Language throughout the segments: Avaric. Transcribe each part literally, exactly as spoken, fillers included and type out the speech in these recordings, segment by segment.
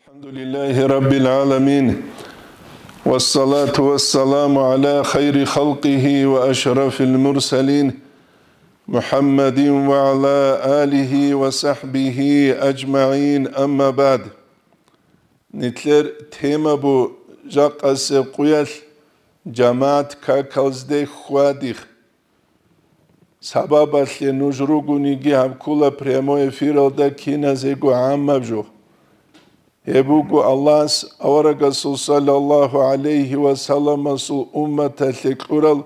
الحمد لله رب العالمين، والصلاة والسلام على خير خلقه وأشرف المرسلين، محمد وعلى آله وصحبه أجمعين، أما بعد. Нилъер тема бу жакъасеб къуялъ жамагӀат какалзде хьвадихъ. Сабабалъе нуж ругониги гьаб ккола прямой эфиралда киназего гӀаммаб жо. Гьеб буго Аллагьас аварагасул саллаллагьу гӀалайгьи ва салламасул умматалъе кьурал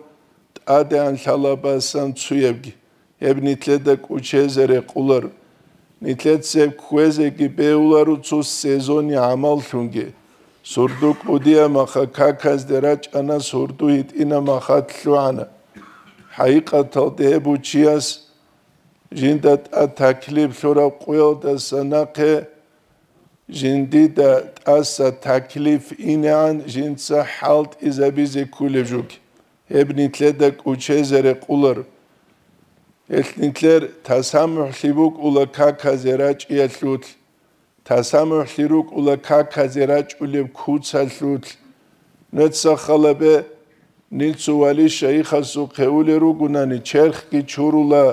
тӀадегӀан лъалабасан цуябги. Гьеб нилъеда кӀучезе рекъолар. Нилъеца гьеб кквезеги бегьуларо цо сезони гӀамаллъунги. Сурду кӀудияб маха каказде рачӀана, сурду гьитӀинаб маха лъугӀана. ХӀакъикъаталда гьеб бу чияс жинда тӀад таклиф лъураб къуялдаса нахъе жиндида тӀаса таклиф инегӀан жинца хӀалтӀизабизе кколеб жуги. Гьеб нилъеда кӀучезе рекъолар. Гьелъ нилъер тасамухӀлъи букӀула каказе рачӀиялъулъ, тасамухӀлъи рукӀула каказе рачӀулеб куцалъулъ. Нуца халабе нилцу вали шайихасухъе улел ругунани, черхги чурула,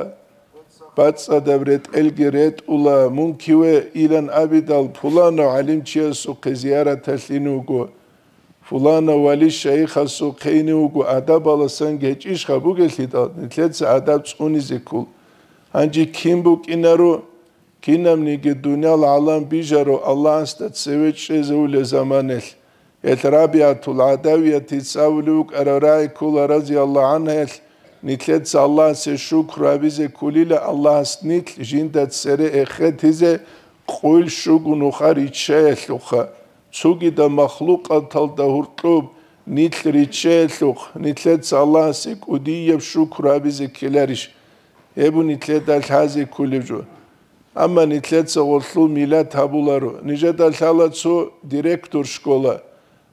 бацӀцӀадаб ретӀелги ретӀула, мункиве илан абидал пуланав гӀалимчиясухъе зияраталъ ине вуго. Фулана вали шайихасухъе ине вуго, адабаласан гьечӀищха бугелъидал, нилъеца адаб цӀунизе ккол. Гьанже кин букӀинаро, кинабниги дуниял гӀалам бижаро Аллагьасда цеве чӀезавулеб заманалъ. Гьелъ Рабиатул ГӀадавиятица абулев вукӀарав рагӀи ккола, разияллагьу гӀангьаялъ, нилъеца Аллагьасе шукру гьабизе кколила Аллагьас нилъ жинда цере эхетизе къуйл щуго нуха риччаялъухъа. Цогидаб махлукъаталда гьоркьоб нилъ риччаялъухъ, нилъеца Аллагьасе кӀудияб шукру гьабизе ккеларищ? Гьеб бу нилъеда лъазе кколеб жо. Амма нилъеца гъолъул миллат гьабуларо. Нижеда лъала цо директор школа,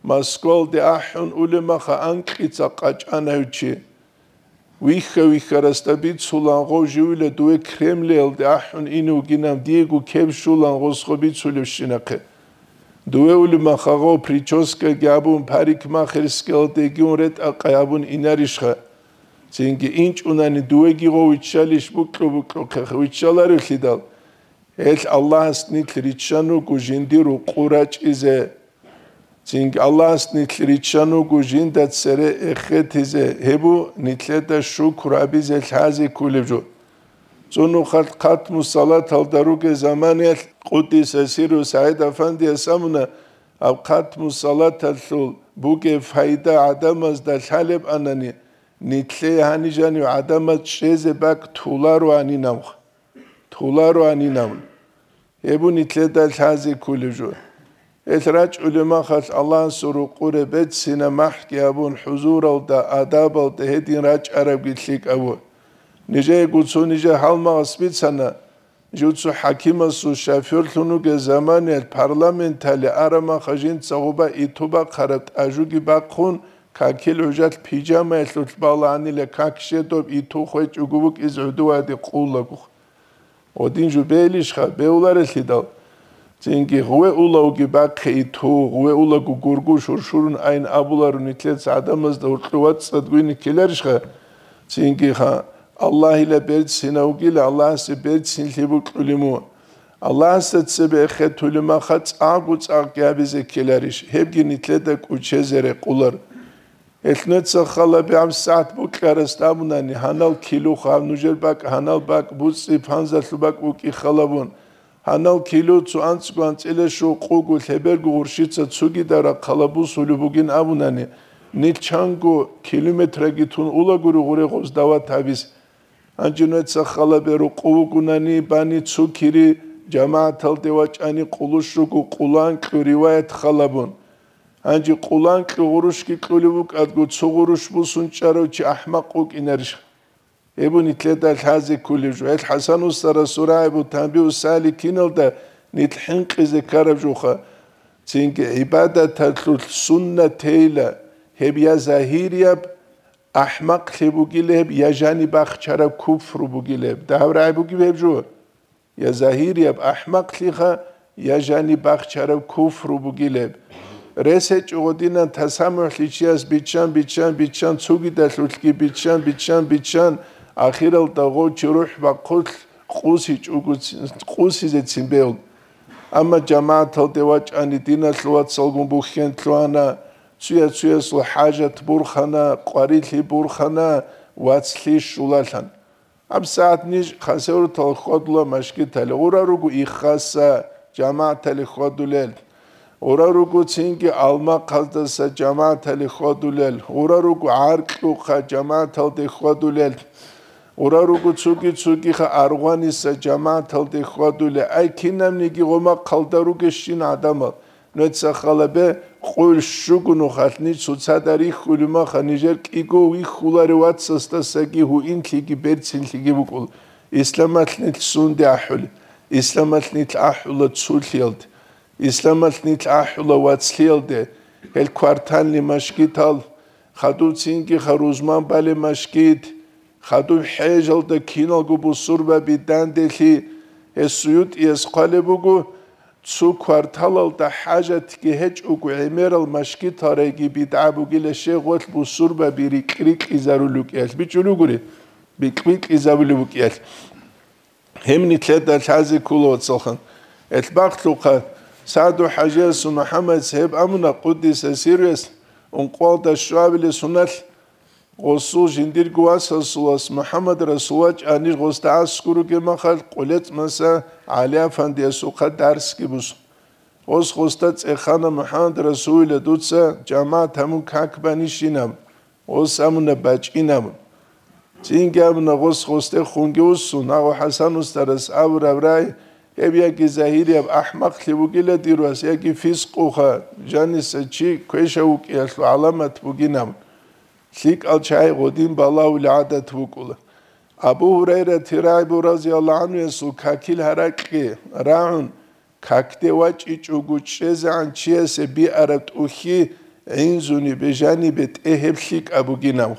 Москвалде ахӀун улеб маха анкьица къачӀана гьев чи. Вихьа-вихьарасда бицулан гъов живила дуе Кремлиялде ахӀун ине вугинан, диего кеб щулан гъосго бицулебщинахъе. Дуе улеб маха гъов прическаги абун, парикмахерскиялдеги ун ретӀа-къай абун инарищха? Цинги инчӀунани дуеги гъов виччалищ букьу-букьухъе виччаларевлъидал? Гьелъ Аллагьас нилъ риччан вуго жиндир рукъу рачӀизе. Цинги Аллагьас нилъ риччан вуго жинда цере эхетизе, гьеб бу нилъеда шукру гьабизе лъазе кколеб жо. Цо нухалъ хатму салаталда ругел заманаялъ Къуддиса сирру СагӀид Афандияс абуна, гьаб хатму салаталъул бугеб пайда гӀадамазда лъалеб анани, нилъее гьанижанив гӀадамаз чӀезе бакӀ толароанинавха. Толароанинавун. Гьеб бу нилъеда лъазе кколеб жо. Гьелъ рачӀулеб махалъ Аллагьасул рукъуре берцинаб махӀги абун, хӀузуралда, адабалда гьедин рачӀарабги лъикӀаб бу. Нижеего цо нижер гьалмагъас бицана, жив цо хӀакимасул шофёрлъун вугел заманаялъ парламенталде араб маха жинца гъоба иту бахъараб тӀажуги бахъун, какил гӀужалъ пижамаялъулъ балагьанила как щедоб иту хвечӀого букӀизе гӀодоваде къуллаго. Гъодин жо бегьилищха, бегьуларелъидал? Цинги гъуве улавги бахъе иту, гъуве улаго гургу шуршурун айн абуларо нилъеца гӀадамазда гьоркьов вацӀцӀад гуйни ккеларищха? Цинги ха, Аллагьила берцинав вугила, Аллагьасе берцинлъи букьулеб мун. Аллагьасда цебе эхетулеб маха цӀакъго-цӀакъги гьабизе ккеларищ? Гьебги нилъеда кӀучезе рекъолар. Гьелъ нуца халаб гьаб сагӀат букьарасда абунани, гьанал кило хаб нужер бакӀ, гьанал бакӀ буцӀи, панзалъу бакӀ букӀи халабун. Гьанал кило цо анцӀго анцӀила щугъ къуго лъеберго гъурщица цогидал рахъалаб бусулеб бугин абунани, нилъ чанго километраги тун улагури гъуре гъоз дават гьабиз. Гьанже нуца халабе рукъу вугунани бани цукири, жамагӀаталде вачӀани къулущ руго къуланкьу риваят халабун. Гьанже къуланкьу гъурущги кьулев вукӀадго, цо гъурущ бусун чӀарав чи ахӀмакъ вукӀинарищ? Гьеб бу нилъеда лъазе кколеб жо. Гьелъ ХӀасан устарас сурагӀи бу Танбигьу Саликиналда нилъ хӀинкъизе ккараб жоха. Цинги гӀибадаталъулъ суннат тейила, гьеб я загьирияб ахӀмакълъи бугила гьеб, я жаниб бахчараб куфру бугила гьеб. Дагьаб рагӀи бугеб гьеб жо? Я загьирияб ахӀмакълъиха, я жаниб бахчараб куфру бугилеб. Рес гьечӀо гъодинан тасамухӀлъи чияс биччан, биччан, биччан, цугидалъулъги биччан, биччан, биччан, ахиралда гъов чи рухӀ бахъулъ къусичӀого ци-, къусизе цин бегьун. Амма жамагӀаталде вачӀани диналъул вацалгун бухьен лъугьана, цуя-цуясул хӀажат бурхана, къварилъи бурхана, вацлъи щулалъан. ГьабсагӀат ниж Хасавюрталъ хьвадула машгиталде, гъура руго Иххаса жамагӀаталде хьвадулел, гъура руго цинги Алмахъаздаса жамагӀаталде хьвадулел, гъура руго ГӀаркьухъа жамагӀаталде хьвадулел, гъура руго цуги-цугиха Аргъваниса жамагӀаталде хьвадулел. Ай, кинабниги гъомахъалда ругещин гӀадамал. Нуца халабе къуйл щуго нухалъ ниж цоцазда рихьулев маха, нижер кӀиго вихьуларев вацасдасаги гьуинлъиги берцинлъиги букӀул. Исламалъ нилъ сунде ахӀулел? Исламалъ нилъ ахӀула цулъиялде. Исламалъ нилъ ахӀула вацлъиялде. Гьел квартальный машгитал, хадуб цинги ха рузман балеб машгит, хадуб хӀежалда киналго бусурбаби данделъи. Гьес СуютӀияс хъвалеб буго, цо кварталалда хӀажатги гьечӀого гӀемерал машгитал райги бидгӀа бугила, щегъолъ бусурбаби рикь-рикьизарулев вукӀиялъ, бичӀчӀулев гури, бикь-бикьизабулев вукӀиялъ. Гьеб нилъеда лъазе ккола, вацалхан. Элъ бахълъухъа, СагӀду-хӀажиясул МухӀаммадица гьеб абуна, къуддиса сирруяс, ункъоялда щуабилеб соналъ, гъосул жиндирго васасулас МухӀаммад-Расул вачӀанир гъосда аскӀор ругеб махалъ, КъулецӀмаса ГӀали-афандиясухъа дарсги босун. Гъос гъосда цӀехана, МухӀаммад-Расулила, дуца жамагӀат гьабун как банищин абун. Гъос абуна, бачӀин абун. Цинги абуна гъос гъосде хунги вуссун, гьагъо ХӀасан устарас абураб рагӀи, гьеб яги загьирияб ахӀмакълъи бугила дир вас, яги фискъуха, жаниса чи квешав вукӀиялъул гӀаламат бугин абун. ЛъикӀал чагӀи гъодин балагьулел гӀадат букӀула. Абу Гьурайрати рагӀи бугин, разияллагьу гӀанхуясул какил гьаракьги рагӀун, какде вачӀичӀого чӀезегӀан чиясе биараб тӀухьи гӀинзуни бижани бетӀе гьеб лъикӀаб бугинаб,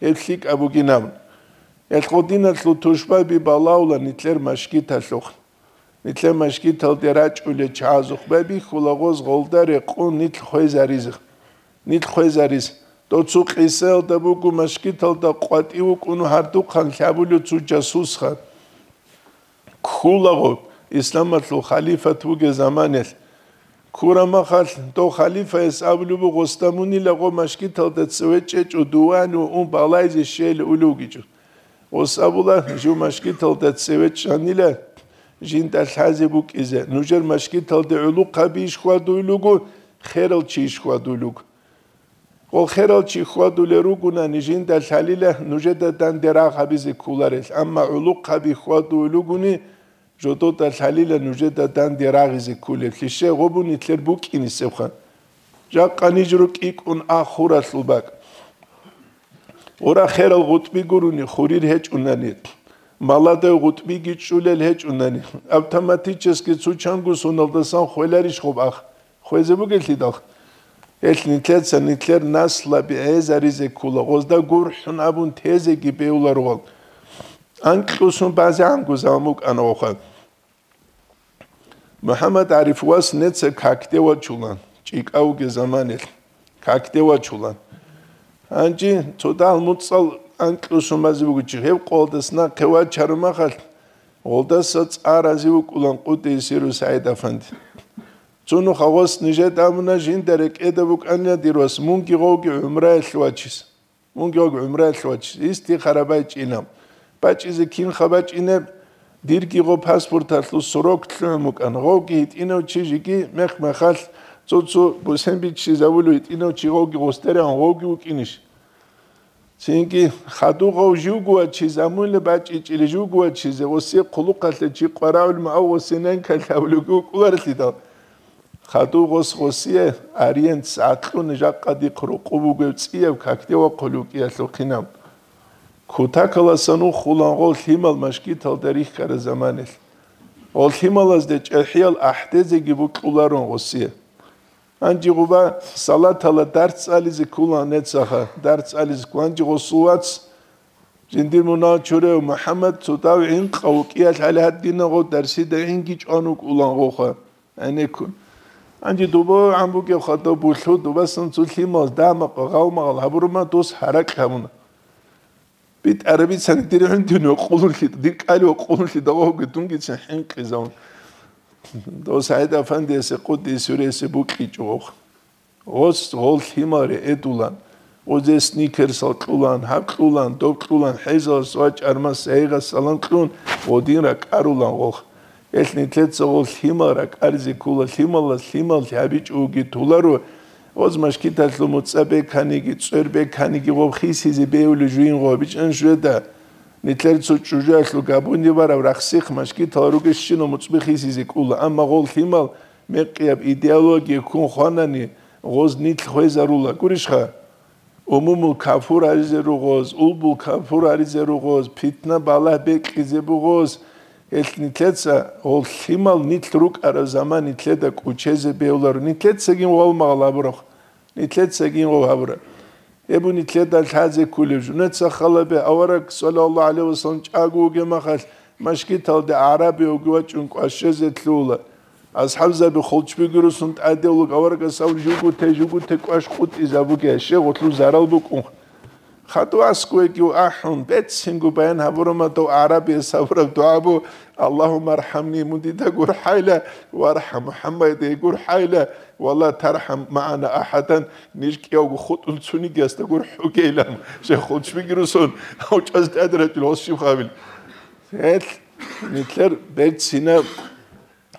гьеб лъикӀаб бугинаб. Гьел гъодиналъул тушбаби балагьула нилъер машгиталъухъ. Нилъер машгиталде рачӀулел чагӀазухъ байбихьула гъоз гъолда рекъон нилъ хвезаризе. Нилъ хвезаризе. Дов цо къисаялда буго, машгиталда къватӀив вукӀун гьардухъан лъабулев цо жасусха. Ккулаго, исламалъул халифат вугеб заманалъ. Ккураб махалъ, дов халифаяс абулеб буго, гъосда мунила гъо машгиталда цеве чӀечӀо, дувани ва ун балайзе щейилан улев вугичӀо. Гъос абула, жив машгиталда цеве чӀанила, жинда лъазе букӀизе. Нужер машгиталде гӀулухъабийищ хьвадулел руго, херал чийищ хьвадулел руго? Гъол херал чи хьвадулел ругони, жинда лъалила нужеда данде рагъ гьабизе кколарел, амма гӀулухъаби хьвадулел ругони, жодода лъалила нужеда данде рагъизе кколеблъи. Щай гъоб нилъер букӀинисебха? Жакъа ниж рукӀикӀун ахуралъул бакӀ. Гъура херал гъутӀби гурони хурир гьечӀунани, маладай гъутӀбиги чӀулел гьечӀунани, автоматически цо чанго соналдасан хвеларищ гъоб ах? Хвезе бугелъидал. Гьелъ нилъеца нилъер наслаби гӀезаризе ккола, гъозда гурхӀун абун тезеги бегьуларо гъол. Анкьусун базегӀанго заман букӀана гъоха. МухӀаммад ГӀариф вас неца какде вачулан, чӀикӀавги заманилъ, какде вачулан. Гьанже цо дагьал муцӀал анкьусун базе бугичи, гьеб къолдас нахъе вачарумахалъ, гъолдаса цӀа рази вукӀулан къудейсиру СагӀид Афанди. Цо нух гъос нижеда абуна, жинда рекӀеда букӀанила дир вас, мунги гъовги гӀумраялъ вачиз. Мунги гъовги гӀумраялъ вачиз. Истихара байчӀинаб. БачӀизе кинха бачӀинеб? Дирги гъо паспорталъул срок лъугӀун букӀан. Гъовги гьитӀинав чи жиги мех-мехалъ цо-цо бусен биччизавулев гьитӀинав чи гъовги гъосдерегӀан гъовги вукӀинищ? Цинги хадув гъов живго вачиз, амулеб бачӀичӀили живго вачизе, гъосие хъулухъалъе чи къварагӀулма ав гъосие ненкалъ гьавулевги вукӀуларелъидал. Хадув гъос гъосие ариент сагӀатлъун жакъа дихъ рукъу бугев цӀияб какде вахъулев кӀиялъухъинаб. Кутакаласан ухулан гъол лъимал машгиталда рихьараб заманалъ. Гъол лъималазде чӀехӀиял ахӀдезеги букьуларун гъосие. Гьанже гъуба салатала дарс цӀализе ккулан нецаха, дарс цӀализе ккулан. Гьанже гъосул вац, жиндир мунагьал чурав МухӀаммад, цо дав гӀинкъав вукӀиялъ гьале гьадинав гъов дарсида гӀинги чӀван вукӀулан гъоха. гӀенеккун. Гьанже дуба гӀан бугеб хадуб булъу, дубасан цо лъимал, дамакъ, гъалмагъал гьабурума, дос гьаракь гьабуна. БитӀараб бицани дир гӀундуни ва къулун лъи-, дир кӀали ва къулун лъидагъоги дунги цин хӀинкъизавун. Дос ГӀайд-Афандиясе къуддиса сирругьу букӀичӀо гъов. Гъос гъол лъимал ретӀулан, гъозе сникерсал кьулан, гьаб кьулан, доб кьулан, хӀезалас ва чӀармас гьейгъас салам кьун, гъодин ракӀарулан гъолх. Гьелъ нилъеца гъол лъимал ракӀаризе ккола, лъималас лъимал гьабичӀого толаро, гъоз машгиталъул муцӀа беканиги, цӀер беканиги гъоб хисизе бегьулев жугьин гъо бичӀчӀан жугьеда. Нилъер цо чӀужуялъул габуни бараб рахсихъ машгитал ругещинал муцӀби хисизе ккола, амма гъол лъимал мекъияб идеология ккун хванани, гъоз нилъ хвезарула. Гурищха? Умумул кафур гьаризе ругъоз, улбул кафур гьаризе ругъоз, питна балагь бекьизе бугъоз, гьелъ нилъеца гъол лъимал нилъ рукӀараб заман нилъеда кӀучезе бегьуларо. Нилъецагин гъол магъал гьабурахъ, нилъецагин гъол гьабура. Гьеб нилъеда лъазе кколев жо. Нилъеца халабе авараг, саллаллагьу гӀалайгьи вассалам, чӀаго вугеб махалъ, машгиталде гӀараби вуги вачӀун кӀвашезе лъугьула. АсхӀабзаби холчбиги русун тӀаде вуго, аварагас абун, жугьутей, жугьутей кӀваш къутӀизабуге, щегъулъул зарал букӀун. Хадув аскӀовеги ахӀун, бецинго баян гьабурамадав гӀарабияс гьабураб дугӀа бу: «Аллагьумма архӀамни», мун дида гурхӀайла, «ВархӀам МухӀаммаде гурхӀайла, ва ла тархӀам магӀана ахӀадан», ниж кӀиявго хутӀун цунигиясда гурхӀугейилан, щегъ холчбиги русун, гьав чӀваз тӀаде рачӀун гъос щиб гьабил. Гьелъ нилъер берцинаб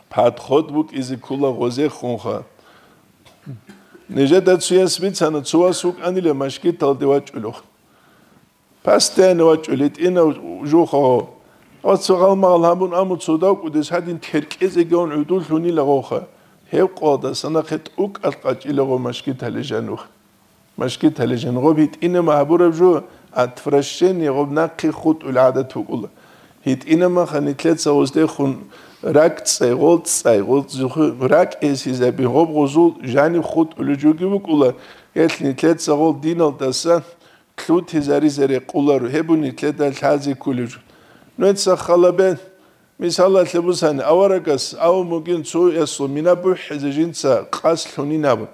подход букӀизе ккола гъозехунха. Нижеда цояс бицана, цо вас вукӀанила машгиталде вачӀулев. Постоянно вачӀули, тӀинав жуха гъо. Ва цо гъалмагъал гьабун, аму цо давкӀудес гьадин теркӀезеги гьавун гӀудуллъунила гъоха. Гьев къоялдаса нахъе тӀукӀалъ къачӀила гъо машгитале жанух. Машгитале жан гъоб гьитӀинаб гьабураб жо, отвращение, гъоб нахъе хутӀул гӀадат букӀула. ГьитӀинаб маха нилъеца гъоздехун ракӀцӀай, гъолцӀай, гъолцӀухъе ракӀ гьесизаби, гъоб гъозул жаниб хутӀулев жоги букӀула, гьелъ нилъеца гъол диналдаса лъутизаризе рекъоларо, гьеб нилъеда лъазе кколев жо. Нуца халабе, мисалалъе бусани, аварагас абун бугин цоясул мина бухӀизе жинца къасд лъунин абун.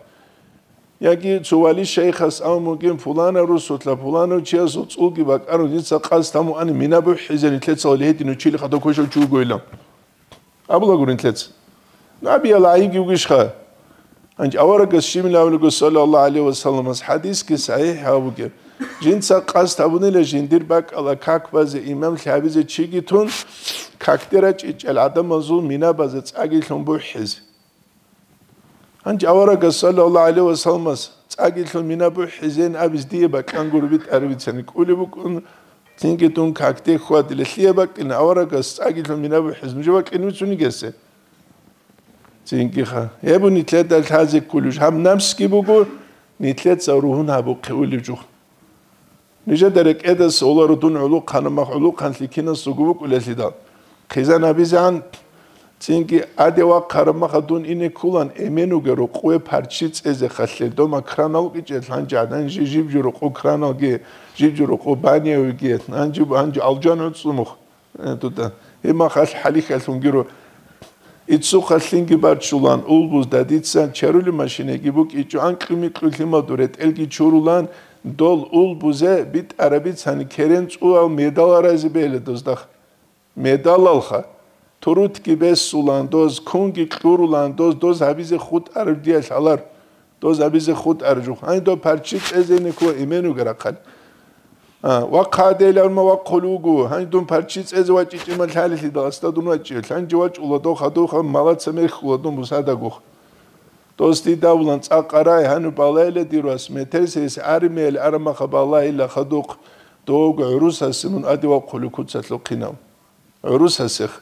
Яги цо вали-шайхас абун бугин, пуланав русулъа пуланав чиясул цӀулги бакӀарун жинца къасд гьабун ани мина бухӀизе нилъеца вали гьедин учили хадуб квешав чи вугойилан. Абула гурин нилъеца. Набиял гӀайибги вугищха? Гьанже аварагас щибин абулего, саллаллагьу гӀалайгьи вассаламас, хӀадисги сахӀихӀ гьабуге. Жинца къасд гьабунила жиндир бакӀала как базе, имамлъи гьабизе чиги тун, какде рачӀичӀел гӀадамазул мина базе цӀаги лъун бухӀизе. Гьанже аварагас, саллаллагьу гӀалайгьи вассаламас, цӀаги лъун мина бухӀизейин абиз дие бакьан гуро битӀараб бицани кӀулеб букӀун, цинги дун какде хьвадила. Лъие бакӀина аварагас цӀаги лъун мина бухӀиз, нужее бакӀин вицунигесе? Цинги ха. Гьеб нилъеда лъазе кколеб жо. Гьаб напсги буго, нилъеца ругьун гьабухъе улеб жо. Нижеда рекӀедаса оларо дун гӀулухъанаб мах гӀулухъанлъи кинас руго букӀулелъидал. Хъизан гьабизегӀан, цинги гӀаде вахъараб маха дун ине ккулан, эмен вугел рукъове парччи цӀезе халлъе. Дома кран алкӀичӀел гьанже гӀадан жи-, жиб жо рукъо краналги, жиб жо рукъо банявиги, гьанже, гьанже алжан гӀуцӀумухъ. Э, дуда. Гьеб махалъ хӀалихьалъун гиро. Иццухъа лъинги барчулан, улбузда дица чарули машинеги букӀичӀо, анкьи-микьу лъимаду ретӀелги чурулан, дол улбузе битӀараб бицани керен цӀуал медал аразе бегьила доздахъ. Медалалха. Турутги бесулан доз, кунги кьурулан доз, доз гьабизе хутӀараб диялъ гьалар. Доз абизе хутӀар жух. Гьанже дов парччи цӀезейин ккола эмен вугел рахъалъ. А, вахъ гьадейилан ма вахъулев вуго. Гьанже дун парччи цӀезе вачӀичӀин ма лъалелъидал, асда дун вачӀиялъ. Гьанже вачӀула дов хадув, малаца мерхьула дун бусадагухъ. Дос дида абулан, цӀакъ арай, гьаниб балайила дир вас, метерсейис армиялъ араб маха балайила хадухъ, довго гӀурусасе мун аде вахъулев куцалъухъинав. ГӀурусасех.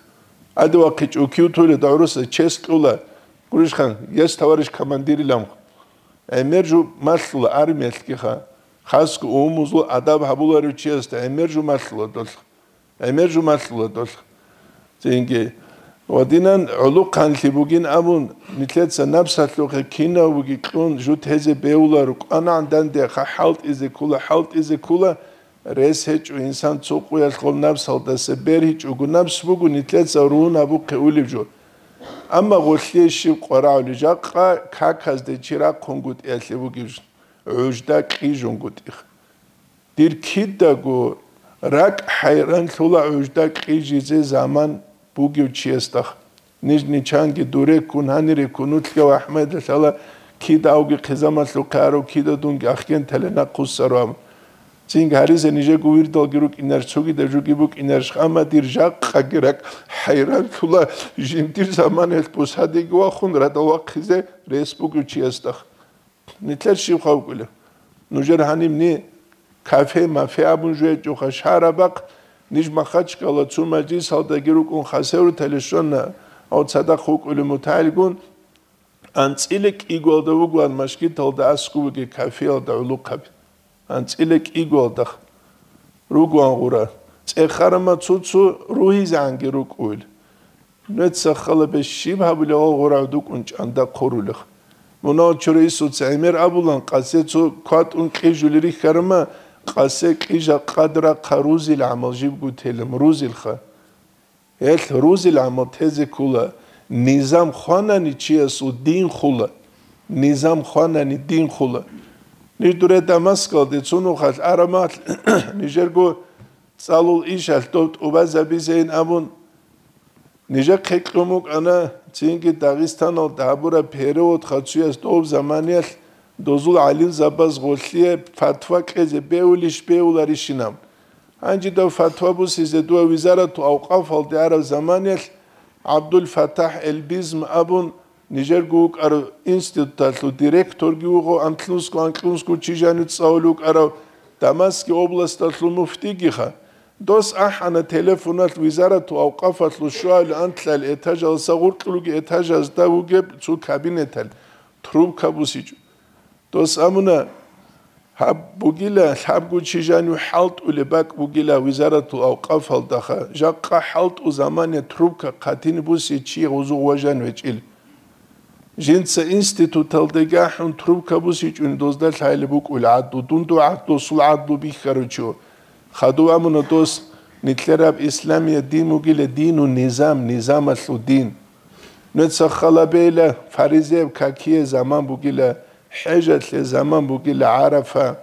Аде вахъичӀо кив туледа гӀурусас чес кьула, гурищха, есть товарищ командирилан. ГӀемер жо малъула армиялъгиха. Хасго умумузул адаб гьабуларев чиясда гӀемер жо малъула долъ. ГӀемер жо малъула долъ. Цинги. Ва динан гӀулухъанлъи бугин абун, нилъеца напсалъухъе кинав буги кьун жо тезе бегьуларо, кӀванагӀан данде ха хӀалтӀизе ккола, хӀалтӀизе ккола, Рес гьечӀо инсан цо къуялъ гъоб напсалдаса, бергьичӀого напс буго нилъеца ругьун гьабухъе улеб жо. Амма гъолъие щиб къварагӀули, жакъа каказде чи рахъунгутӀиялъе бугеб жо, гӀужда кьижунгутӀиха. Дир кидаго ракӀ хӀайранлъула гӀужда кьижизе заман бугев чиясдахъ. Ниж ничанги дуреккун, гьаниреккун, нутлъгав Ахмедалъала кида авги хъизамалъухъе арав кида дунги ахкентале нахъуссаро абун. Цинги гьаризе нижего вирдалги рукӀинарищ, цогидаб жуги букӀинарищ, амма дир жакъаги ракӀ хӀайранлъула жиндир заманаялъ бусадеги вахун радал вахъизе рес бугев чиясдахъ. Нилъер щиб хавкӀулеб? Нужер гьанибни кафе-мафе абун жугьечӀоха шагьарабахъ, ниж Махачкала цо мажлисалдаги рукӀун хасевруталищ щвана, гьав цадахъ вукӀулев мутагӀилгун, анцӀила кӀигоялда вугоан машгиталда аскӀу бугеб кафеялда гӀолохъаби. АнцӀила кӀигоялдахъ ругоан гъура. ЦӀехарама цо-цо ругьизегӀанги рукӀуил. Нуца халабе щиб гьабулев гъура гӀодукӀун чӀанда хъурулех. Мунагьал чураисуца гӀемер абулан, къасе цо кватӀун кьижули рихьарама, къасе кьижа къадрахъа рузил гӀамал жибго телем, рузилха. Гьелъ рузил гӀамал тезе ккола, низам хванани чиясул дин хула, низам хванани дин хула. Ниж дуре Дамаскалде цо нухалъ арамалъ, нижерго цӀалул ишалъ дов тӀубазабизейин абун, нижехъе кьун букӀана, цинги Дагъистаналда гьабураб перевод хацуяс дов заманиялъ дозул гӀалимзабаз гъолъие фатва кьезе бевулищ бевуларищинаб. Гьанжидав фатва бусизе дуа визарату авкъафалде араб заманиялъ ГӀабдул-Фатахь Элбизм абун, нижерго вукӀарав институталъул директорги вуго, анлънусго-анкьнусго чи жанив цӀалулев вукӀарав Дамаски областалъул муфтигиха. Дос ахӀана телефоналъ визарату авкъафалъул щуабилеб анлъабилеб этажалдаса гъоркьулеб этажазда вугеб цо кабинеталъ трубка бусичӀо. Дос абуна, гьаб бугила, лъабго чи жанив хӀалтӀулеб бакӀ бугила визаратул авкъафалдаха, жакъа хӀалтӀу замане трубка хъатине буси чи гъозу гъважан вечӀил. Жинца институталдаги ахӀун трубка бусичӀони дозда лъайли букӀул гӀадлу, дун дугӀат досул гӀадлу бихьаручо. Хадув абуна дос, нилъераб исламият дин бугила дину низам, низамалъул дин. Нуца халабейла фаризеяб какие заман бугила, хӀежалъе заман бугила, ГӀарафа,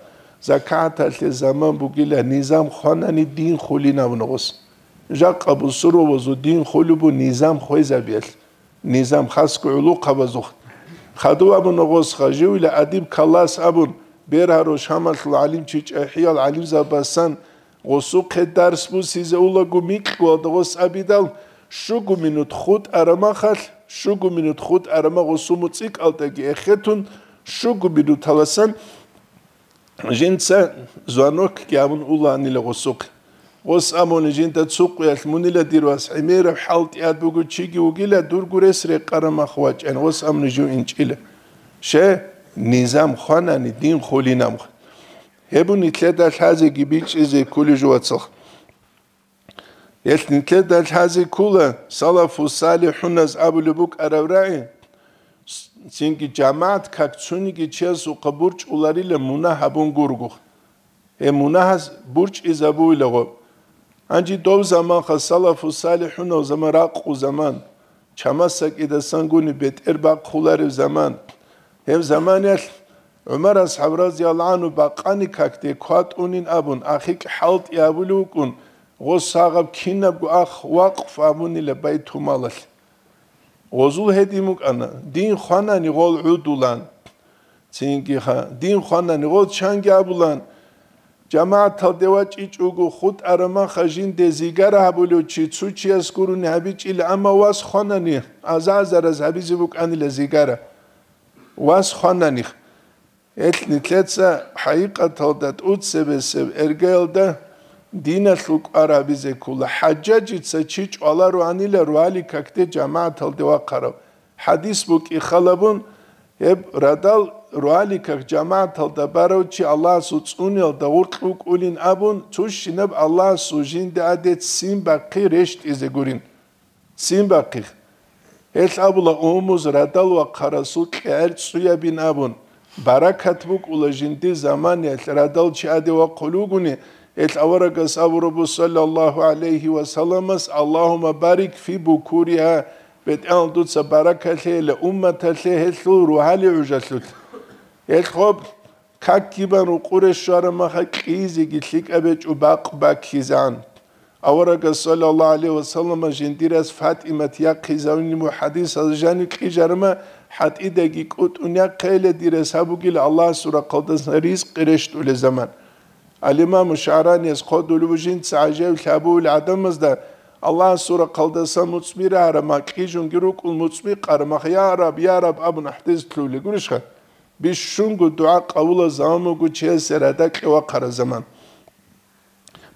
закаталъе заман бугила, низам хванани дин хулин абуна гъос. Жакъа бусурбабазул дин хулеб бу низам хвезабиялъ, низам хасго гӀулухъабазухъ. Хадув абуна гъос, хаживила адиб калас абун, бергьаро Шамалъул гӀалимчи чӀахӀиял гӀалимзабасан Гъосухъе дарс бусизе улаго микьгоялда гъос абидал, щуго минут хутӀараб махалъ, щуго минут хутӀараб мах гъосул муцӀикӀалдаги эхетун, щуго минуталасан жинца звонокги гьабун уланила гъосухъе. Гъос абуни жинда цо къуялъ мунила дир вас гӀемераб хӀалтӀияб буго чиги вугила, дурго рес рекъараб мах вачӀани, гъос абуни жив инчӀила. Ще, низам хванани дин хулинаб. Гьеб нилъеда лъазеги бичӀчӀизе кколеб жо, вацал. Гьелъ нилъеда лъазе ккола, салафу салихӀуназ абулеб букӀараб рагӀи, цинги жамагӀат как цониги чиясухъа бурчӀуларила мунагь гьабун гургух. Гьеб мунагьаз бурчӀизабуила гъоб. Гьанже дов заманха салафу салихӀунав заман, ракъу заман, чамасакӀидасангуни бетӀер бахъуларев заман. Гьеб заманиялъ ГӀумар асхӀаб разияллагьу гӀангьу бакъани какде кватӀунин абун, ахикь хӀалтӀи абулев вукӀун, гъос сагъаб кинабго ах вакъф абунила байтулмалалъ. Гъозул гьедин букӀана, дин хванани гъол гӀудулан. Цинги ха, дин хванани гъол чанги абулан. ЖамагӀаталде вачӀичӀого хутӀараб маха жинде зигара гьабулев чи цо чияс гурони гьабичӀила, амма вас хванани аза-азараз гьабизе букӀанила зигара. Вас хванани. Гьелъ нилъеца хӀакъикъаталда тӀуцебесеб эргаялда диналъул кӀвар гьабизе ккола. ХӀажжажица чи чӀвалароанила ругьали какде жамагӀаталде вахъарав. ХӀадис букӀи халабун, гьеб радал ругьали как жамагӀаталда барав чи Аллагьасул цӀуниялда гъоркь вукӀулин абун, цущинаб Аллагьасул жинда гӀадец ццин бахъи рещтӀизе гурин. Ццин бахъих. Гьелъ абула умумуз радал вахъарасул кьегӀер цӀуябин абун, баракат букӀула жиндир заманиялъ радал чи гӀаде вахъулев вугони, гьелъ аварагас абурабу, саллаллагьу гӀалайгьи ва салламас, «Аллагьумма барик фи букуриха», БетӀал дуца баракалъейила умматалъе гьелъул рогьалил гӀужалъулъ. Гьелъ гъоб какги бан рукъуре щвараб маха кьизеги лъикӀаб гьечӀо бакъ баккизан. Аварагас, саллаллагьу гӀалайгьи ва саллама, жиндирас ФатӀимат яхъизавин мухӀадисал жанив кьижарма, хӀатӀидаги кӀутӀун яхъейила, дирас гьабугила Аллагьасул рахъалдасан ризкъи рещтӀулел заман. Ал-Имаму ШагӀраниялъ хъодулев жинца гӀажаиблъи гьабулел гӀадамазда Аллагьасул рахъалдасан муцӀби рагьараб мах кьижунги рукӀун, муцӀби къараб мах, «Я Раб, я Раб» абун ахӀдезе лъугьулел гурищха? Бищунго дугӀа къабулаб заман буго чиясе радакье вахъараб заман.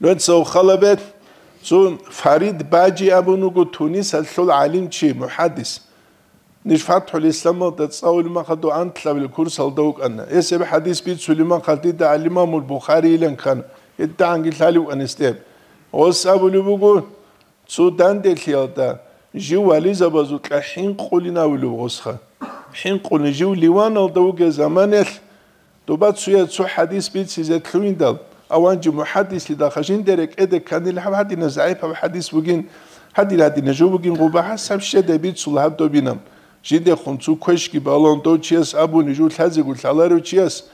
Нуца халабе цо Фарид Бажи абун вуго Тунисалъул гӀалимчи, мухӀаддис. Ниж ФатхӀул Исламалда цӀалулеб махалда анлъабилеб курсалда вукӀана. Гьес гьеб хӀадис бицулеб махалда дида ал-Имамул Бухарийилан ккана. ГьедигӀанги лъалев вукӀана гьесде. Гъос абулеб буго, цо данделъиялда жив вализабазукьа хӀинкъулин абулеб гъосха. ХӀинкъулин жив Ливаналда вугеб заманалъ Доба цояз цо хӀадис бицизе лъугьиндал, аванчи мухӀаддислъидал хажинде рекӀеде кканил гьаб гьадинаб загӀипаб хӀадис бугин, гьадин-гьадинаб жо бугин, гъуба гьасаб щедай бицула гьаб добинаб. Жидехун цо квешги балун, дов чияс абуни жо лъазего лъаларев чияс,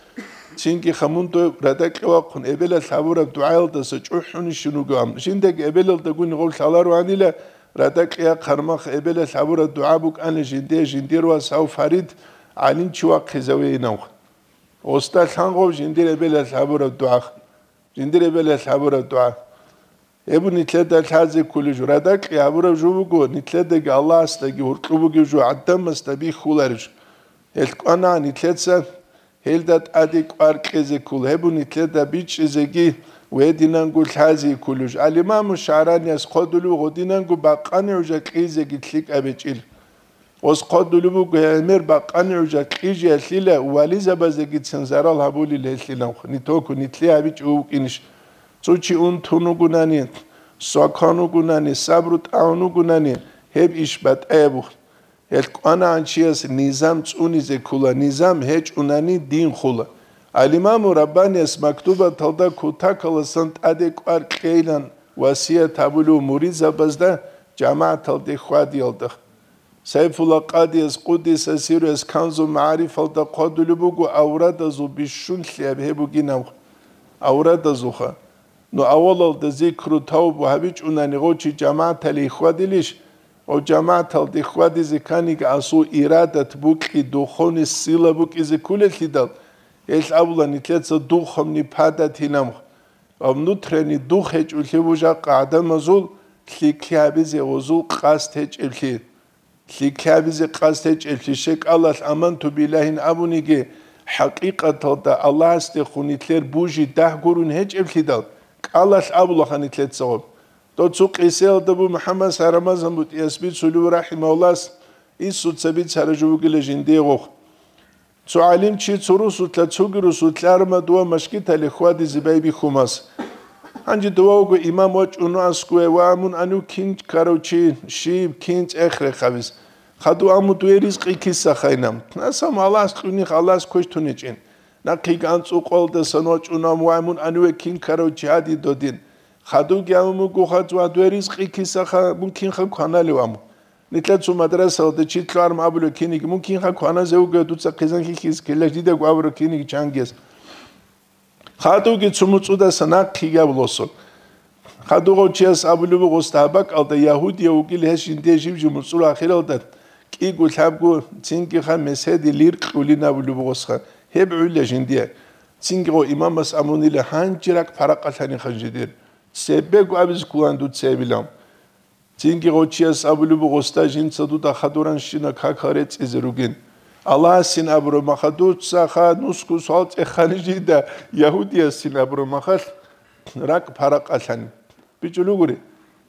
цинги хамун дов радакье вахъун эбелалъ гьабураб дугӀаялдаса чӀухӀунищин вугоан. Жиндаги эбелалдагуни гъов лъалароанила, радакье яхъармах эбелалъ гьабураб дугӀа букӀана жинде, жиндир вас гьав Фарид гӀалимчи вахъизавейинавха. Оста лъангъов жиндир эбелалъ гьабураб дугӀа. Жиндир эбелалъ гьабураб дугӀа. Гьеб нилъеда лъазе кколеб жо, радакье гьабураб жо буго, нилъедаги Аллагьасдаги гьоркьоб бугеб жо, гӀадамасда бихьулареб жо. Гьелъ кӀвана нилъеца гьелда тӀаде кӀвар кьезе ккола, гьеб нилъеда бичӀчӀизеги ва гьединанго лъазе кколеб жо. Ал-Имаму ШагӀранияс хъодулев гъодинанго бакъани гӀужа кьизеги лъикӀаб гьечӀил. Гъос хъодулеб буго гӀемер бакъани гӀужа кьижиялъила вализабазегицин зарал гьабулел гьелъиланха, нитоку нилъи гьабичӀо вукӀинищ. Цо чи унтун вугунани, свакан вугунани, сабру тӀагӀун вугунани, гьеб иш батӀаябухъ. Гьелъ кӀванагӀан чияс низам цӀунизе ккола, низам гьечӀунани дин хула. Ал-Имаму Раббанияс мактубаталда кутакаласан тӀаде кӀвар кьейилан васият гьабулев муридзабазда жамагӀаталде хьвадиялда. Сайфулла Къадияс, къуддиса сирругьу, Канзул МагӀарифалда хъвадулеб буго аврадазул бищун лъияб гьеб бугинаб аврадазулха. Ну, авалалда зикру тавбу гьабичӀунани гъов чи жамагӀаталде хьвадилищ? Гъов жамагӀаталде хьвадизе кканиги асул ирадат букӀи, духовный сила букӀизе кколелъидал, гьелъ абула нилъеца духовный падатинаб. Ва внутренний дух гьечӀолъи буго жакъа гӀадамазул лъикӀлъи гьабизе гъозул къасд гьечӀеблъи. ЛъикӀлъи гьабизе къасд гьечӀеблъи, щай кӀалалъ аманту билагьин абуниги, хӀакъикъаталда Аллагьасдехун нилъер бужи дагь гурун гьечӀеблъидал, кӀалалъ абулаха нилъецаго. Дов цо къисаялда буго МухӀаммад Рамазан БутӀияс бицулев рахӀимагьуллагьас, инсуца бицараб жо бугила жиндиего. Цо гӀалимчи цо русулъа цоги русулъ арма дова машгиталде хьвадизе байбихьумас. Гьанже дова вуго имам вачӀун асгуе ва мун анив кин ккарав чи, щиб, кин цӀех рехъабиз. Хадув аму дуе ризкъи киса хайнам? Насам Аллагьас кьунихъ Аллагьас квеш тунечӀин. Нахъеги анцӀукъалдасан вачӀун ам ва мун аниве кин ккарав чи гьади додин. Хадувги аму мугу хадув дуе ризкъи киса ха, мун кинха кваналев аму? Нилъер цо мадрасалда чи лъугӀарм абулев киниги, мун кинха кваназе вугев дуца хъизан хихьизе ккелаш дидаго абурав киниги чангияс. Хадуги цо муцӀудаса нахъ ккигаб лосо. Хадугъав чияс абулеб буго, гъосда гьаб бакӀалда ягьудияв вугил гьес жинде жив-жив муцӀур ахиралда кӀиго лъабго цинги ха меседи лир кьулин абулеб бугосха. Гьеб гӀуйла жиндие. Цинги гъо имамас амунила гьанже ракӀ паракъалъани ханжидир. Цебего абизе ккулан дуцебилан. Цинги гъочияс абулеб буго, гъосда жинца дуда хадуранщина какал рецӀизе ругин. Аллагьасин абураб маха дуца ха нусго суал цӀехани жида, ягьудиясин абураб махалъ ракӀ паракъалъани. БичӀулугури,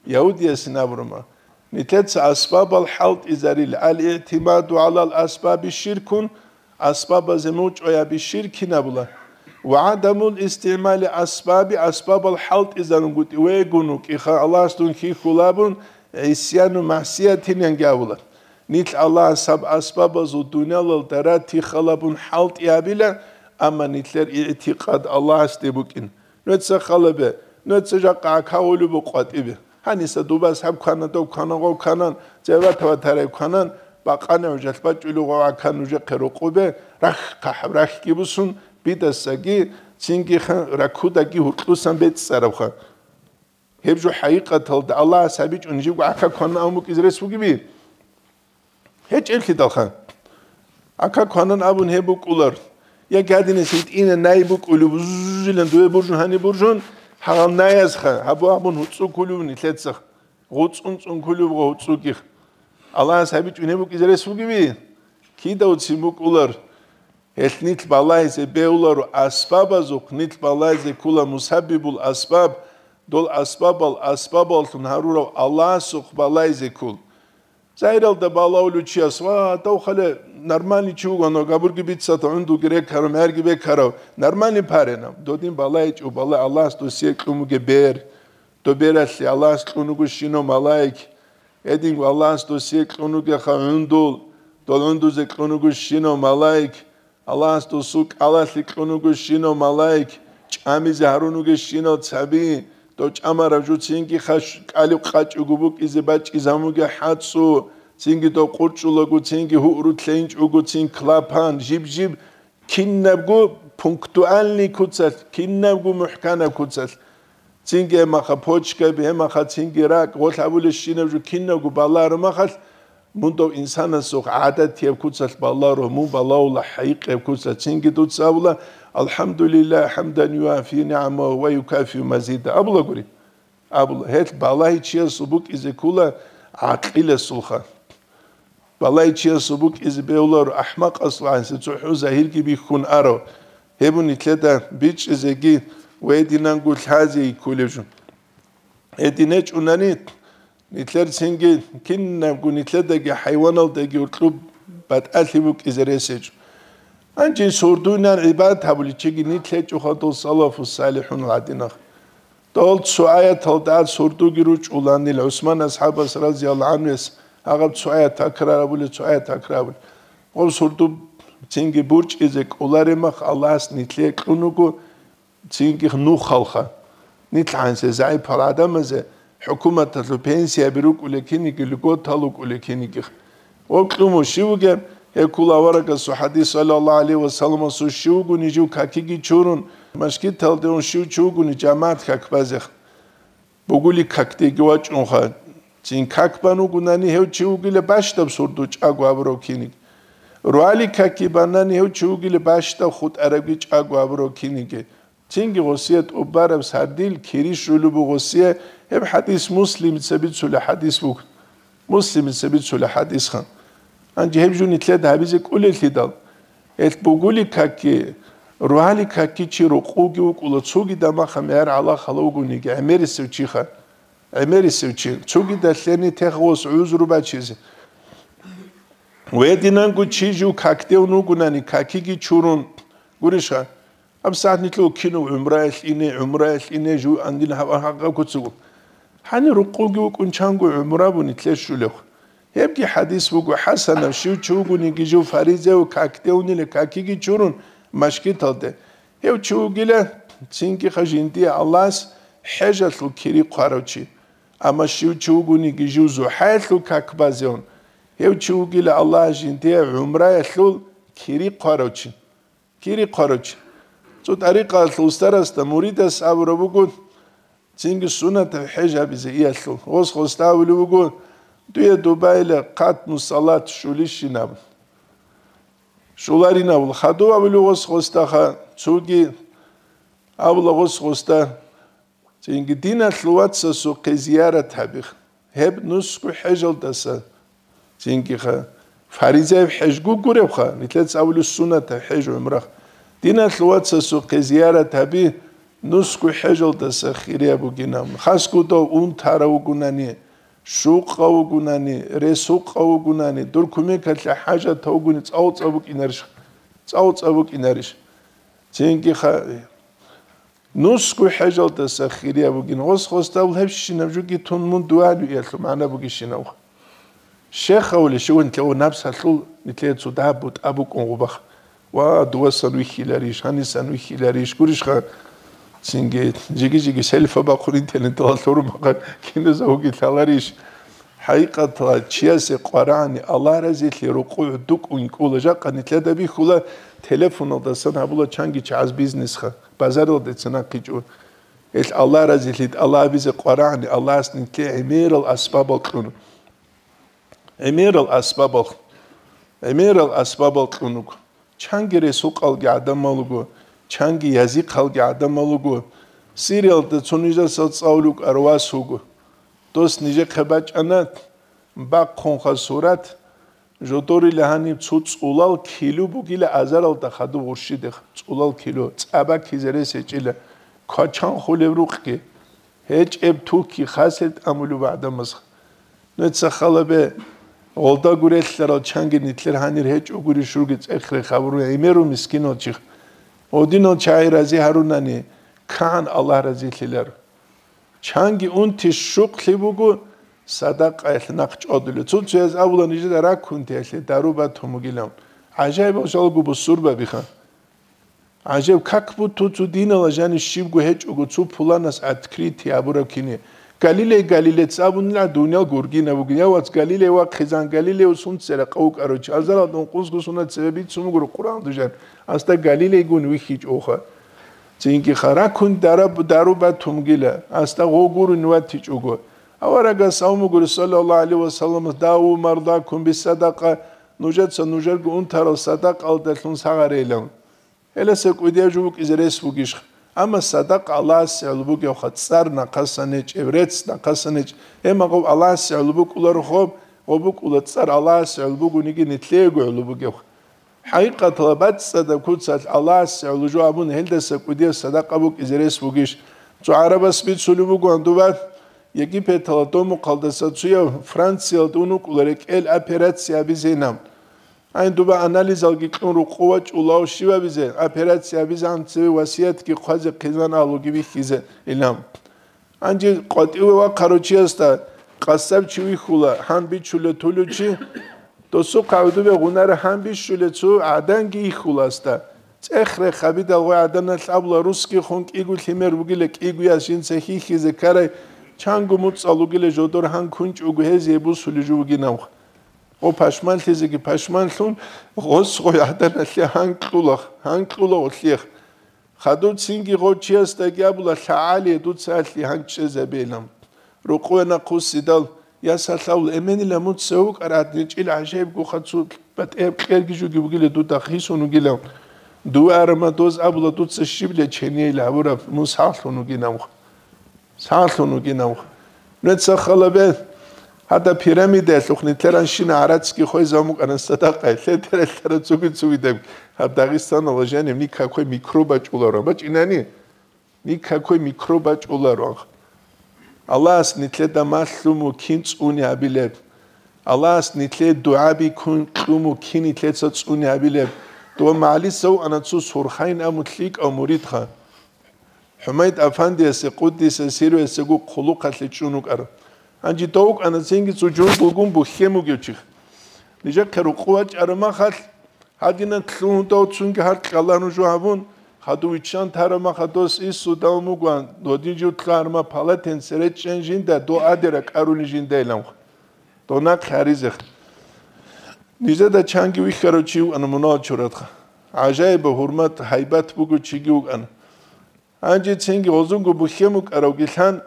ягьудиясин абураб мах. Нилъеца асбабал хӀалтӀизарил, ал-игӀтимаду гӀалал асбаби ширкун, асбабазе мучӀуяби ширкин абула. Ва гӀадамул истигӀмали асбаби, асбабал хӀалтӀизарун гутӀи вегун вукӀиха Аллагьас дун хьихьулабун, гӀисяну магӀсиятинанги абула. Нилъ Аллагьас гьаб асбабазул дуниялалда ратихалабун хӀалтӀи гьабила, амма нилъер игӀтикъад Аллагьасде букӀин. Нуца халабе, нуца жакъа гӀакагъулеб букъватӀибе. Гьаниса дубас гьаб квана, дов квана, гъов кванан, зеватава тарай кванан, бакъана гӀужалъ бачӀулев гъов гӀакан нужехъе рукъубе, рахь хъахӀаб рахьги бусун, бидасаги, цинги ха-, ракудаги гьуркьусан бецӀцӀарабха. Гьеб жо хӀакъикъаталда Аллагьас гьабичӀун жибго гӀака кванан абун букӀизе рес бугеби? ГьечӀеблъидалха. ГӀака кванан абун гьеб букӀулар. Я гадинас гьитӀина най букӀулев, буззилан дуе буржун гьани буржун, гьагъал наязха, гьабу абун гьуцӀу кулев нилъецах. ГъуцӀун-цӀун кулев гъо гьуцӀугих. Аллагьас гьабичӀун гьеб букӀизе рес бугеби? Кидавцин букӀулар. Гьелъ нилъ балагьизе бегьуларо асбабазухъ, нилъ балагьизе ккула мусаббибул асбаб, дол асбабал асбабаллъун гьарурав Аллагьасухъ балагьизе ккул. Загьиралда балагьулев чияс, ва, дов хъале нормальный чи вугони, габурги бицата, гӀундулги рекарав, мярги бекарав, нормальный парена. Додин балагьичӀо, балагь Аллагьас досие кьун бугеб бер. Доб бералъе Аллагьас кьун вуго щинав малаик. Гьединго Аллагьас досие кьун вугеха гӀундул, дол гӀундузе кьун вуго щинав малаик. Аллагьас досул кӀалалъе кьун вуго щинав малаик, чӀамизе гьарун вугев щинав цаби, дов чӀамарав жо цинги хаш-, кӀалиб къачӀого букӀизе бачӀизабун бугеб хӀацӀцӀу, цинги дов къурчӀулаго, цинги гьугьру лъейинчӀого, цин клапан, жиб-жиб, кинабго пунктуальный куцалъ, кинабго мухӀканаб куцалъ. Цинги гьемаха почкаби, гьемаха цинги ракӀ, гъолъ абулебщинаб жо кинабго балагьаро махалъ, мун дов инсанасухъ гӀадатияб куцалъ балагьаро, мун балагьула хӀайикъияб куцалъ. Цинги дуца абула, «АлхӀамдулиллагь, хӀамдан юафи нигӀамагьу ва юкафиу мазида», абула гури. Абула, гьелъ балагьичиясул букӀизе ккула гӀакъиласулха. Балагьичиясул букӀизе бегьуларо ахӀмакъасул гӀанси цохӀо загьирги бихьун аро. Гьеб нилъеда бичӀчӀизеги ва гьединанго лъазе кколеб жо. Гьедин гьечӀунани, нилъер цинги кинабго нилъедаги хӀайваналдаги гьоркьоб батӀалъи букӀизе рес гьечӀо. Гьанже сордуйнан гӀибадат гьабулев чиги нилъ гьечӀоха дол салафу салихӀун гӀадинах. Дол цо аяталда сордуги ручӀуланил ГӀусман асхӀабас разияллагьу гӀанхуяс гьагъаб цо аят такрар абулеб, цо аят такрар абулеб. Гъоб сордуб цинги бурчӀизе кӀоларемах Аллагьас нилъее кьун вуго цинги нухалха. Нилъ гӀансе загӀипал гӀадамазе хӀукуматалъул пенсияби рукӀулел киниги, льготал рукӀулел кинигих. Ва кьумо щив вугеб? Гьеккул аварагасул хӀадис, саллаллагьу гӀалайгьи ва салламасул, щив вугони жив какиги чурун, машгиталде ун щив чи вугони жамагӀат как базех. Бугули какдеги вачӀунха. Цин как бан вугунани гьев чи вугила бащдаб сурду чӀаго абурав киниг. Руали какги банани гьев чи вугила бащдаб хутӀарабги чӀаго абурав киниги. Цинги гъосие тӀубараб сардил кири щулеб буго гъосие, гьеб хӀадис Муслимица бицулеб хӀадис буго. Муслимица бицулеб хӀадисха. Гьанже гьеб жо нилъеда гьабизе кӀолелъидал, гьелъ бугули какги, руали какги чи рукъуги вукӀула, цоги дамаха мегьар гӀалахъала вугониги, гӀемерисев чиха, гӀемерисев чи, цогидалъени тех гъос гӀузру бачизе. Гьединанго чи жив какде вугунани, какиги чурун, гурищха, ГьабсагӀат нилъго кинав гӀумраялъ ине, гӀумраялъ ине жугьандин гьав гьагъа куцаго. Гьанир рукъуги вукӀун чанго гӀумра бу нилъе щулев. Гьебги хӀадис буго хӀасанаб, щив чи вугониги жив фаризев какде унила какиги чурун машгиталде. Гьев чи вугила цинги ха жиндие Аллагьас хӀежалъул кири хъварав чи. Амма щив чи вугониги жив зухӀаялъул как базеун, гьев чи вугила Аллагьас жиндие гӀумраялъул кири хъварав чи. Кири хъварав чи. Цо тӀарикъаялъул устарасда муридас абураб буго, цинги суннатаб хӀеж гьабизе иялъул. Гъос гъосда абулеб буго, дуе дубайила хъатму салат щулищинаб. Щуларинабул хадув абулеб гъос гъосдаха, цоги абула гъос гъосда. Цинги диналъул вацасухъе зиярат гьабих. Гьеб нусго хӀежалдаса, цинги ха-, фаризаяб хӀеж гугуребха, нилъеца абулеб суннатаб хӀеж гӀумрах. Диналъул вацасухъе зиярат гьаби нусго хӀежалдаса хирияб бугинаб. Хасго дов унтарав вугунани, щукъав вугунани, ресукъав вугунани, дур кумекалъе хӀажатав вугони цӀалцӀа букӀинарищ? ЦӀалцӀа букӀинарищ? Цинги ха-, Нусго хӀежалдаса хирияб бугин, гъос-гъосдаб гьебщинаб жуги тун мун дугьалуялъул магӀна бугищинав. Щехавли щиван лъего напсалъул нилъее цо дагьаб бутӀа букӀун гъубах. Ва, дувасан вихьиларищ, гьанисан вихьиларищ, гурищха? Цинги жиги-жиги селфа бахъун интернеталда лъураб мехалъ киназда гьуги лъаларищ? ХӀакъикъаталда чиясе къваригӀани Аллагь разилъи рукъугӀ дукӀун кӀула. Жакъа нилъеда бихьула, телефоналдасан гьабула чанги чагӀаз бизнесха, базаралдеца нахъичӀо. Ил Аллагь разилъи тӀалабизе къваригӀани Аллагьас нилъее гӀемерал асбабал кьун. ГӀемерал асбабал, гӀемерал асбабал кьун руго. Чанги ресукъалги гӀадамал руго, чанги язихъалги гӀадамал руго. Сириялда цо нижеца цӀалулев вукӀарав вас вуго. Дос нижехъе бачӀана, бахъунха сурат, жодорила гьаниб цо цӀулал кило бугила азаралда хадуб гъурщидехъ, цӀулал кило, цӀа баккизе рес гьечӀила, квачан хулеб рукъги. ГьечӀеб туки хасел тӀамулев гӀадамаз. Нуца халабе, гъолда гурелъарал чанги нилъер гьанир гьечӀо гури шурги цӀехре хабуру гӀемеру мискинал чихъ. Гъодинал чагӀи рази гьарунани, кагӀан Аллагь разилъилар. Чанги унти щукълъи буго, садакъаялъ нахъ чӀодулев. Цо-цояз абула нижеда ракунтиялъе дару батун бугилан. ГӀажаибал жалго бусурбабиха. ГӀажаб, как будто цо динала жанив щибго гьечӀого, цо пуланас открытие гьабураб кине. Галилей Галилец абунила дуниял гургинаб бугин. Я, вац, Галилей вахъизан, Галилей сунцера къавукӀарав чи. Азаралда ункъусго сунат цебе бицун бугуро Къуръан дужан. Аста Галилейгун вихьичӀоха. Цинги харакун дараб-, дару батумгила. Аста гъо гурун ватичӀого. Аварагас абун бугури, саллаллагьу гӀалайгьи ва саллам, «Даву мардакум биссадакъа», нужеца нужерго унтарал садакъалдалъун сагъарейилан. Гьеласа кӀудияв жо букӀизе рес бугищ? Амма садакъа Аллагьасе гӀоло бугевха, цӀар нахъасан гьечӀеб, рецц нахъасан гьечӀ. Гьеб магъоб Аллагьасе гӀоло букӀуларохо, гъо букӀула цӀар Аллагьасе гӀоло бугониги нилъеего гӀоло бугевха. ХӀакъикъаталда бацӀцӀадаб куцалъ Аллагьасе гӀоло жо абун, гьелдаса кӀудияв садакъа букӀизе рес бугищ? Цо гӀарабас бицулеб бугоан дуба, Египеталда домухъалдаса цояв Франциялда ун вукӀула рекӀел операция абизейилан. Гьанже дуба анализалги кьун рукъу вачӀулав щибабизе, операция абизегӀан цеве васиятги хъвазе хъизан агьлуги бихьизейилан. Гьанже къватӀиве вахъарав чиясда къасаб чи вихьула, гьан бичулев тулев чи, досухъа гӀодобе гъунара гьан бищулев цо гӀаданги йихьула асда. ЦӀех-рех гьабидал гъой гӀаданалъ абула, русги хун кӀиго лъимер бугила, кӀигояс жинца хьихьизе ккарай, чанго муцӀал ругила жодор гьан кунчӀого гьезие бусулеб жо бугинавха. Гъо пашманлъизеги пашманлъун, гъос гъой гӀаданалъе гьан кьула, гьан кьула гъолъиех. Хадуб цинги гъов чиясдаги абула, лъагӀалие дуца алъи гьан чӀезабейилан. Рукъуе нахъвуссидал, я салъавул эменила муца вукӀарат гьечӀил гӀажаибгоха цо батӀияб кьерги жуги бугила дуда хисун вугилан. Дуе арамадоз абула дуца щибла ченейил гьабураб мун сагълъун вугинавха. Сагълъун вугинавха. Нуца халабе, гьада пирамидаялъухъ нилъеранщина гӀарацги хвезабун букӀана садакъа, лъедаралъара цуги-цугидаб. Гьаб Дагъистаналда жанив никакой микроб бачӀуларо. БачӀинани? Никакой микроб бачӀуларо. Аллагьас нилъеда малъун вукин цӀуни гьабилеб. Аллагьас нилъее дугӀаби ккун кьун вукин нилъеца цӀуни гьабилеб. Дова магӀалиса вукӀана цо Сурхайин абун лъикӀав муридха. ХӀумайд Афандиясе, къуддиса сирругьу, гьесего хъулухъалъе чӀун вукӀарав. Гьанже дов вукӀана цинги цо жундулгун бухьен бугев чи. Нижехъе рукъу вачӀараб махалъ, гьадинан лъугьун дов цунги гьаркьалда нуж гьабун, хадув виччан тараб махалъ дос иссу давун вугоан, додин жив лъугьарма палатен цере чӀен жинда, дов адера кӀарулин жинда иланха. Дов нахъе гьаризех. Нижеда чанги вихьарав чи вукӀана мунагьал чуратха. ГӀажаиба гьурмат, гьайбат бугев чиги вукӀана. Гьанже цинги гъозунго бухьен букӀаравгилъан,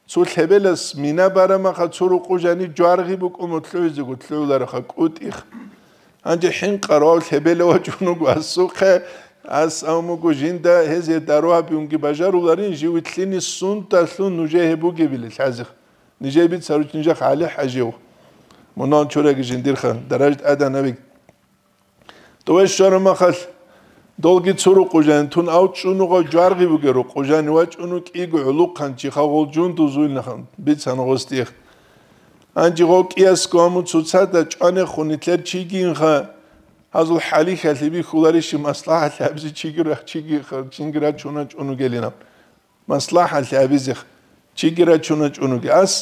цо лъебелас мина барамаха цо рукъу жанив жваргъи букӀун лъугӀизего лъугӀулараха кӀутӀих. Гьанже хӀинкъарав лъебела вачӀун вуго асухъе, ас абун буго жинда гьезие дару гьабиунги бажаруларин, жив вилълъине сундалъун нужее гьеб бугебили лъазех. Нижее бицаручи нижехъ гӀалихӀа жив. Мунагьал чураги жиндирха, даражат адана век. Дове щвараб махалъ, долги цо рукъу жанив тун, ав чӀунугъав жваргъи бугеб рукъу жанив вачӀун вукӀиго гӀулухъан чиха гъол жундуз вуйнахан бицана гъос дихъ. Гьанже гъов кӀиясго гьаму цоцазда чӀванехун нилъер чигиинха, гьазул хӀалихьалъи бихьуларищи маслахӀалъи гьабизе чиги ра-, чиги ха-, чинги рачуна чӀун вугелинаб. МаслахӀалъи гьабизех чиги рачуна чӀунуги. Ас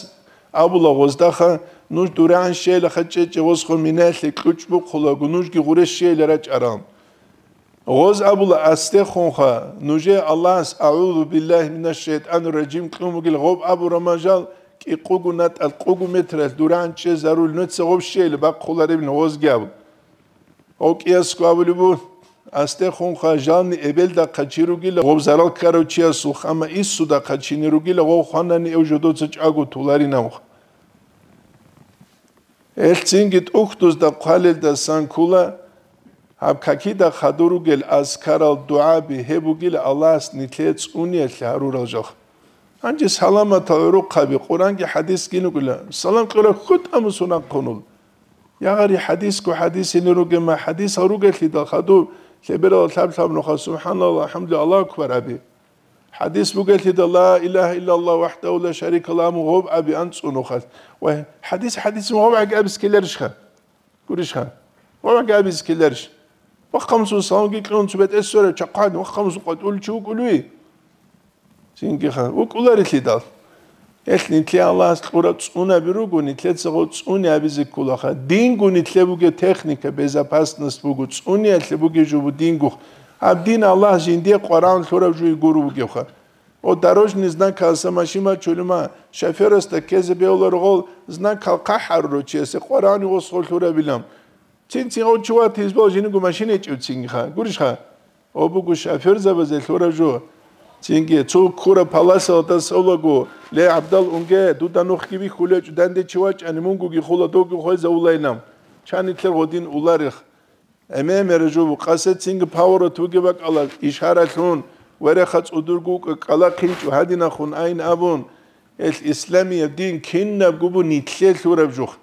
абула гъоздаха, нуж дурагӀан щейилаха чӀечӀе гъосго минаялъе кьучӀ бухъулаго, нужги гъуре щейила рачӀарал. Гъоз абула астехунха, нужее Аллагьас «АгӀузу биллагьи минаш шайтӀанир ражим» кьун бугел гъоб абураб мажал, кӀикъугу натӀал кьугу метралъ дуранчӀе зарул нуца гъоб щейилан бахъуларебин гъозги абу. Гъов кӀиясго абулеб буго, астехунха жални эбелдахъа чи ругила гъов зарал ккарав чиясулха, амма иссудахъа чини ругила гъов хванани эв жодоца чӀаго туларинавха. Гьелъ цинги тӀухьдузда хъвалелдасан ккула, гьаб какида хадур ругел азкарал дугӀаби гьеб бугила Аллагьас нилъее цӀуниялъе гьарурал жал. Гьанже саламатал гӀурухъаби, Къуръанги хӀадисги нукӀила, салам кьураб хутӀа мусунахъунул. Ягъари хӀадисго хӀадисине ругема, хӀадисал ругелъидал хадуб, лъеберал лъаб-лъаб нуха, субхӀаналлагь, алхӀамдулиллагь, Аллагьу акбар аби. ХӀадис бугелъидал, ла илагьа иллаллагь вахӀдагьу ла шарика лагьу гъоб аби анцӀунухъалъ. Ва хӀадис, хӀадис гъоб гӀаги абис ккеларищха? Гурищха? Гъоб гӀаги абис ккеларищ? Вахъа мусул саламги кьун цо бетӀер сверав чахъад, вахъа мусул къватӀулев чи вукӀулев? Цинги ха, вукӀуларелъидал. Гьелъ нилъее Аллагьас кьураб цӀунаби руго, нилъеца гъо цӀуни абизе кколаха. Динго нилъе бугеб техника, безопасность буго, цӀуниялъе бугеб жо бу динго. Гьаб дин Аллагьас жиндие къварагӀун лъураб жуе гуро бугевха. О, дорожный знакалъа машин бачулема, шофёрасда ккезе бегьуларо гъол, знакал хъахӀарурав чиясе къварагӀуни гъос гъо лъурабилан. Цин-цин гъо чи ватизе бал жиниго машин гьечӀев цинги ха. Гурищха? О буго шофёрзабазе лъураб жо. Цинги цо ккураб паласалда солаго, ле, ГӀабдал, унге, дуда нухги бихьулечӀо, данде чи вачӀани, мунгуги хула, довги хвезавулайилан. Чан нилъер гъодин уларех. Эме-мера жо букъасе цинги поворот бугеб бакӀалда ишаралъун, вереха цӀудурго вукӀа кӀала хъинчӀо гьадинахун айин абун, гьелъ исламияб дин кинабго бу нилъе лъураб жух.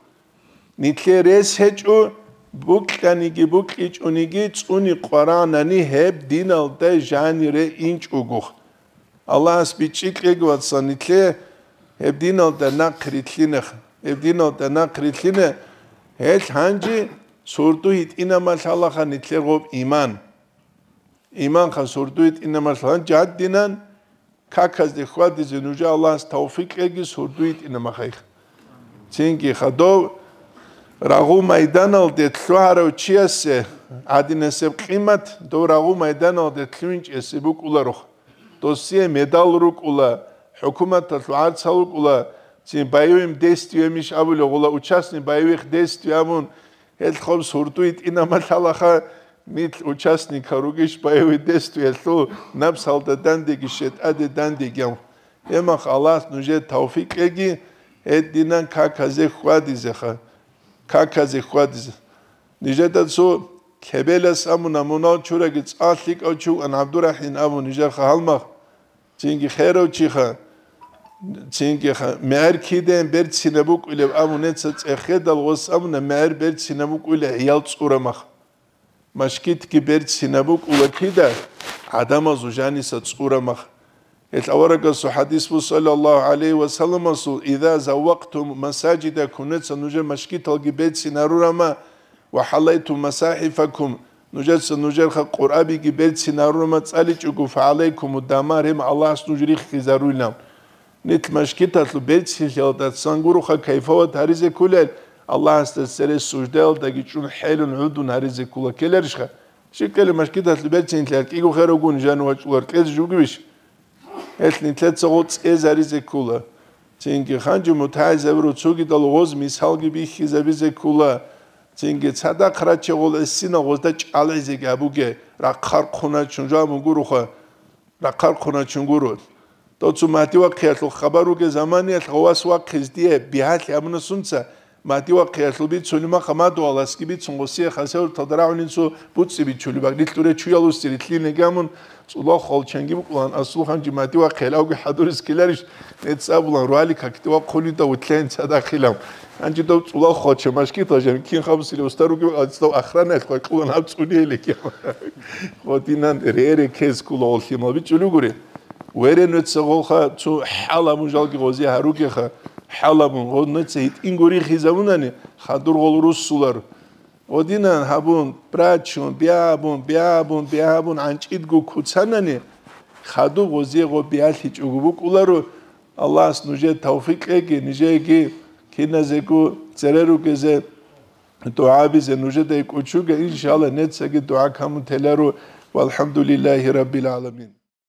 Нилъе рес гьечӀо, букьаниги букьичӀониги цӀуни къварагӀнани гьеб диналда жанире инчӀогох. Аллагьас бичӀчӀи кьеги, вацал, нилъе гьеб диналда нахъ рилълъинех, гьеб диналда нахъ рилълъине, гьелъ гьанже сурду гьитӀинаб малъалаха нилъер гъоб иман. Иманха сурду гьитӀинаб малъ гьанже гьадинан, каказде хьвадизе нужее Аллагьас тавфикъ кьеги сурду йитӀинаб махайх. Цинги хадув рагъу майданалде лъугьарав чиясе гӀадинасеб къимат, дов рагъу майданалде лъугьинчӀесе букӀуларох. Досие медал рукӀула, хӀукуматалъул гӀарцал рукӀула, цин боевым действиемищ абулев гъула, участник боевых действий абун, гьелъ хоб сурду йитӀинаб малъалаха, нилъ участникал ругищ боевой действиялъул, напсалда дандеги, щетӀаде дандеги. Гьебмах Аллагьас нужее тавфикъ кьеги, гьединан каказе хьвадизеха, каказе хьвадизе. Нижеда цо лъебелас абуна, мунал чураги цӀа лъикӀав чи вукӀан ГӀабдурахӀим абун нижерха гьалмагъ. Цинги херав чиха, цинги ха-, мегӀер кидаен берцинаб букӀулеб абун нецаца цӀехедал гъос абуна, мегӀер берцинаб букӀулеб гӀиял цӀурамах. Машгитги берцинаб букӀула кида, гӀадамазул жаниса цӀурамах. Гьелъ аварагасул хӀадис бу, саллаллагьу гӀалайгьи ва салламасул: «Иза заввакътум масажидакум», нецаца нужер машгиталги берцин гьарурама, «ва хӀалайтум масахӀифакум», нужеца нужерха Къуръабиги берцин гьарурама цӀаличӀого, «фагӀалайкуму дамар», гьеб Аллагьас нуж риххизаруйилан. Нилъ машгиталъул берцинлъиялдасан гуроха кайфават гьаризе кколел, Аллагьасда цере суждаялдаги чӀун хӀелун гӀудун гьаризе ккола ккеларищха? Щикъали машгиталъул берцинлъиялъ кӀиго херагун жану вачӀулар кьезе жугевищ? Гьелъ нилъеца гъо цӀезаризе ккола. Цинги ханжи мутагӀилзабиру цогидал гъоз мисалги бихьизабизе ккола. Цинги цадахъ раче гъол эссина гъозда чӀалгӀизеги абуге, рахъархъуначун жаму гуруха, рахъархъуначун гуру. Доцу Магьди вахъиялъул хабар руге заманиялъ гъовас вахъиз дие бигьалъи абуна сунца, Магьди вахъиялъул бицунеб маха мадугьаласги бицун гъосие хасавурталда рагӀунин цо буцӀи бичулеб, багрилъуре чуялусти рилълъине гамун, цӀулал хвалчанги букӀулан, асул ханжи Магьди вахъиял авги хӀадурис ккеларищ, нецӀ абулан, руали какде вахъунин дав вутлъен цадахъилан. Гьанжи дов цӀулал хвалча машгитал жан кин хабусилев устар ругев, ацӀдав охранаялъ вакьулан гьаб цӀуниялиги. Гъодинан рере кез ккула гъол лъимал бичӀчӀулугури. Верен вецца гъолха цо хӀалабун жалги гъозе гьаругеха, хӀалабун гъо нуца гьитӀинго рихизабунани, хадур гъол руссулар. Гъодинан гьабун, брачун, бягьабун, бягьабун, бягьабун гӀанчӀидго куцанани, хадуб гъозе гъо биялъичӀого букӀуларо. Аллагьас нужее тавфикъ кьеги, нижееги киназего цере ругезе. ДугӀабизе нужеда кӀучуге, иншалла, нецаги дугӀа камун теларо, ВалхӀамдулиллагьи раббил гӀаламин.